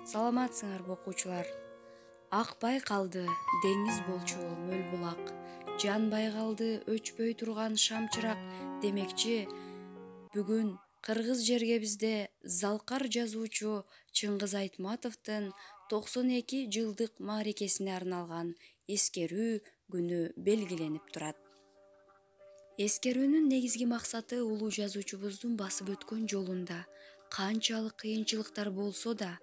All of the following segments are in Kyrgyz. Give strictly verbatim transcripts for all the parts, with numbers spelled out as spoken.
Саламатсыңарбы окуучулар? Акпай калды деңиз болчу мөл булак, жанбай калды өчпөй турган шамчырак демекчи. Бүгүн кыргыз жергебизде залкар жазуучу Чыңгыз Айтматовдун токсон эки жылдык мааракесине арналган эскерүү күнү белгиленип турат. Эскерүүнүн негизги максаты улуу жазуучубуздун басып өткөн жолунда канчалык кыйынчылыктар болсо да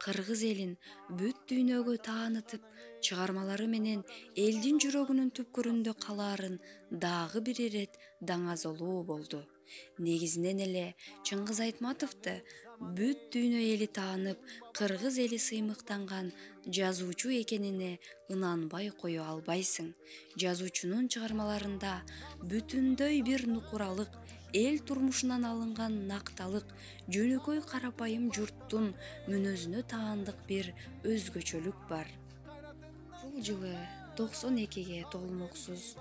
кыргыз элин бүт дүйнөгө таанытып, чыгармалары менен элдин жүрөгүнүн түпкүрүндө калаарын дагы бир ирет даңазолоо болду. Негизинен эле Чыңгыз Айтматовду бүт дүйнө эли таанып, кыргыз эли сыймыктанган жазуучу экенине ынанбай кое албайсың. Жазуучунун чыгармаларында бүтүндөй бир нукуралык, эл турмушунан алынган накталык, жөнөкөй карапайым журттун мүнөзүнө таандык бир өзгөчөлүк бар. Бул жылы токсон экиге толмоксуз,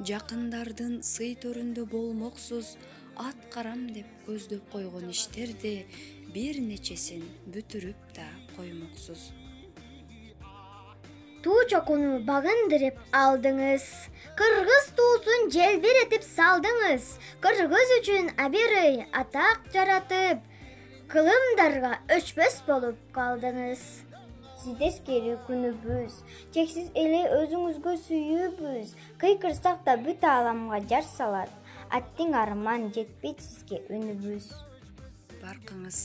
жакындардын сый төрүндө болмоксуз, ат карам деп көздөп койгон иштерди бир нечесин бүтүрүп да коймоксуз. Туу чокуну багындырып алдыңыз, кыргыз туусун желбиретип салдыңыз, кыргыз үчүн абийир атак жаратып, кылымдарга өчпөс болуп калдыңыз. Сизди эскерүү күнүбүз, чексиз эле өзүңүзгө сүйүүбүз, кыйкырсак да бүт ааламга жар салат, аттиң арман жетпейт сизге үнүбүз. Баркыңыз,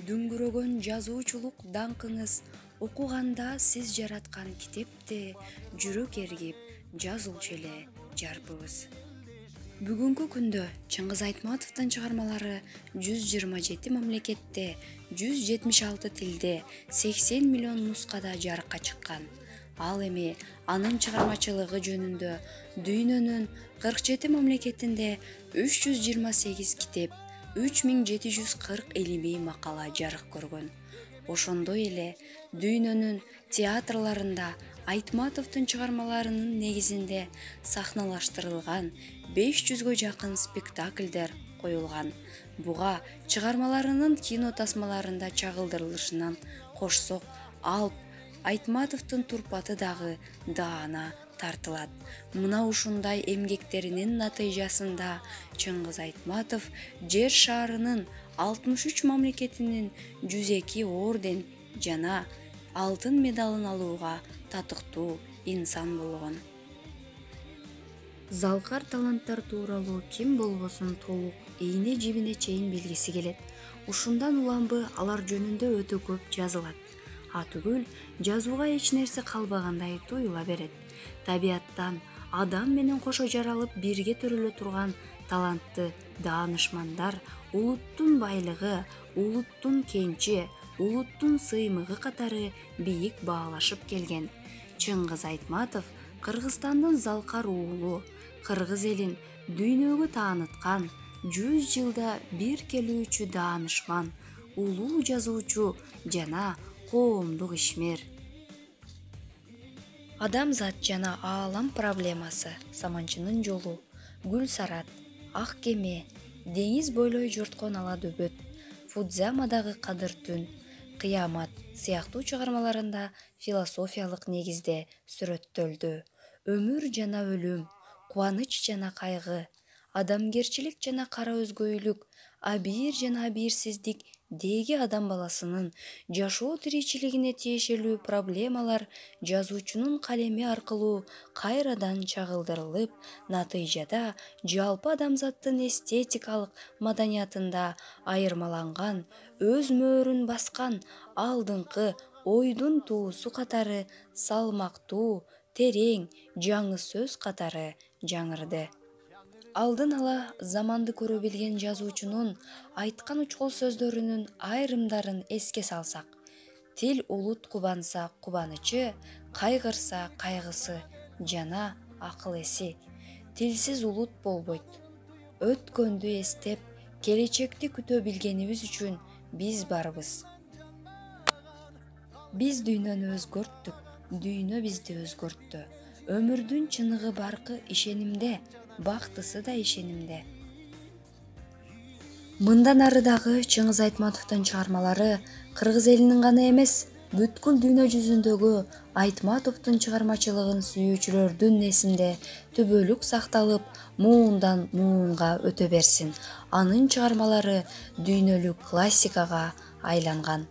дүңгүрөгөн жазуучулук даңкыңыз, окуганда сиз жараткан китепти жүрөк эргип жазуучу эле жарпыбыз. Бүгүнкү күндө Чыңгыз Айтматовдун чыгармалары жүз жыйырма жети мамлекетте, жүз жетимиш алты тилде, сексен миллион нускада жарыкка чыккан. Ал эми анын чыгармачылыгы жөнүндө дүйнөнүн кырк жети мамлекетинде үч жүз жыйырма сегиз китеп, үч миң жети жүз кырк илимий макала жарык көргөн. Ошондой эле дүйнөнүн театрларында Айтматовдун чыгармаларынын негизинде сахналаштырылган беш жүзгө жакын спектакльдер коюлган. Буга чыгармаларынын кино тасмаларында чагылдырылышынан кошсок, Алп Айтматовдун турпаты дагы даана тартылат. Мына ушундай эмгектеринин натыйжасында Чыңгыз Айтматов жер шарынын алтымыш үч мамлекетинин жүз эки орден жана алтын медалын алууга татыктуу инсан болгон. Залкар таланттар тууралуу ким болбосун толук ийне жибине чейин билгиси келет. Ушундан уламбы алар жөнүндө өтө көп жазылат. Атүгүл жазууга эч нерсе калбагандай туюла берет. Табияттан адам менен кошо жаралып бирге төрөлө турган талантты даанышмандар улуттун байлыгы, улуттун кенчи, улуттун сыймыгы катары бийик баалашып келген. Чыңгыз Айтматов Кыргызстандын залкар уулу, кыргыз элин дүйнөгө тааныткан, жүз жылда бир келүүчү даанышман, улуу жазуучу жана коомдук ишмер. Адамзат жана аалам проблемасы, Саманчынын жолу, Гүл Сарат, Ак кеме, Деңиз бойлой жорткон ала дөбөт, Фудзамадагы кадыр түн, Кыямат сыяктуу чыгармаларында философиялык негизде сүрөттөлдү. Өмүр жана өлүм, кубаныч жана кайгы, адамгерчилик жана кара өзгөйлүк, абийир жана абийирсиздик деги адам баласынын жашоо тиричилигине тиешелүү проблемалар жазуучунун калеми аркылуу кайрадан чагылдырылып, натыйжада жалпы адамзаттын эстетикалык маданиятында айырмаланган, өз мөөрүн баскан алдыңкы ойдун туусу катары салмактуу, терең, жаңы сөз катары жаңырды. Алдын ала заманды көрө билген жазуучунун айткан учкул сөздөрүнүн айрымдарын эске салсак: тил улут кубанса кубанычы, кайгырса кайгысы жана акыл эси. Тилсиз улут болбойт. Өткөндү эстеп, келечекти күтө билгенибиз үчүн биз барбыз. Биз дүйнөнү өзгөрттүк, дүйнө бизди өзгөрттү. Өмүрдүн чыныгы баркы ишенимде, бактысы да ишенимде. Мындан ары дагы Чыңгыз Айтматовдун чыгармалары кыргыз элинин гана эмес, бүткүл дүйнө жүзүндөгү Айтматовдун чыгармачылыгын сүйүүчүлөрдүн эсинде түбөлүк сакталып, муундан муунга өтө берсин. Анын чыгармалары дүйнөлүк классикага айланган.